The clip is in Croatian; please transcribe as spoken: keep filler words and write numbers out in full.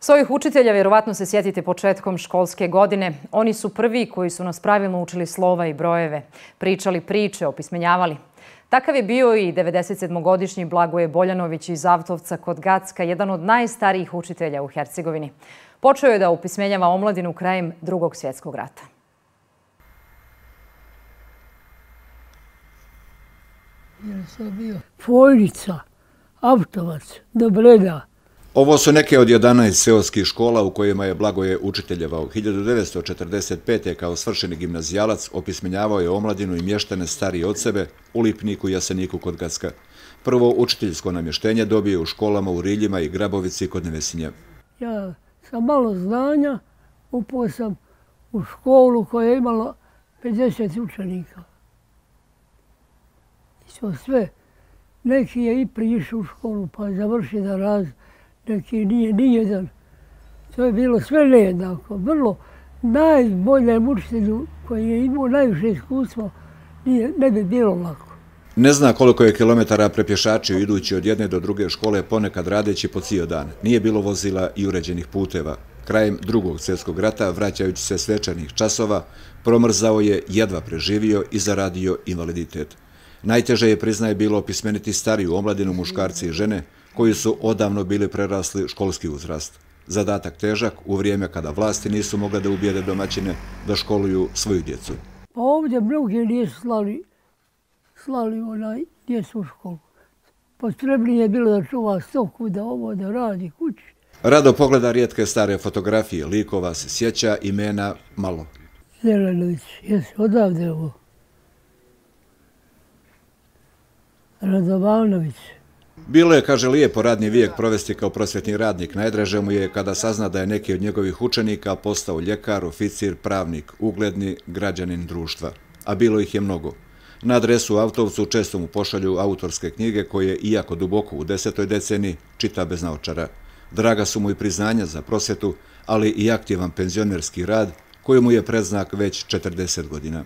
Svojih učitelja vjerovatno se sjetite početkom školske godine. Oni su prvi koji su nas pravilno učili slova i brojeve, pričali priče, opismenjavali. Takav je bio i devedesetsedmogodišnji Blagoje Boljanović iz Avtovca kod Gacka, jedan od najstarijih učitelja u Hercegovini. Počeo je da opismenjava omladinu krajem Drugog svjetskog rata. Fojnica, Avtovac, do Breda. Ovo su neke od jedanaest seoskih škola u kojima je Blagoje učiteljevao. hiljadu devetsto četrdeset pete. kao svršeni gimnazijalac opismenjavao je omladinu i mještane starije od sebe u Lipniku i Jaseniku kod Gacka. Prvo učiteljsko namještenje dobije u školama u Riljima i Grabovici kod Nevesinja. Ja sam malo znanja, upao sam u školu koja je imala pedeset učenika. I to sve. Neki je i prišao u školu pa je završio da raz, neki nije nijedan. To je bilo sve nejednako. Vrlo najboljem učitelju koji je imao najviše iskustva nije, ne bi bilo lako. Ne zna koliko je kilometara prepješačio idući od jedne do druge škole, ponekad radeći po cijel dan. Nije bilo vozila i uređenih puteva. Krajem Drugog svjetskog rata, vraćajući se s večernjih časova, promrzao je, jedva preživio i zaradio invaliditet. Najteže je, priznaje, bilo opismeniti stariju omladinu, muškarci i žene, koji su odavno bili prerasli školski uzrast. Zadatak težak u vrijeme kada vlasti nisu mogle da ubijede domaćine da školuju svoju djecu. Pa ovdje mnogi nisu slali, slali onaj djecu u školu. Potrebnije je bilo da čuva stoku, da ovo, da radi kući. Rado pogleda rijetke stare fotografije, likova se sjeća, imena malo. Zelenović, jesi odavde ovo? Radovanović. Bilo je, kaže, lijepo radni vijek provesti kao prosvjetni radnik. Najdraže mu je kada sazna da je neki od njegovih učenika postao ljekar, oficir, pravnik, ugledni građanin društva. A bilo ih je mnogo. Na adresu u Avtovcu često mu pošalju autorske knjige koje, iako duboko u desetoj deceniji, čita bez naočara. Draga su mu i priznanja za prosvjetu, ali i aktivan penzionerski rad koji mu je predznak već četrdeset godina.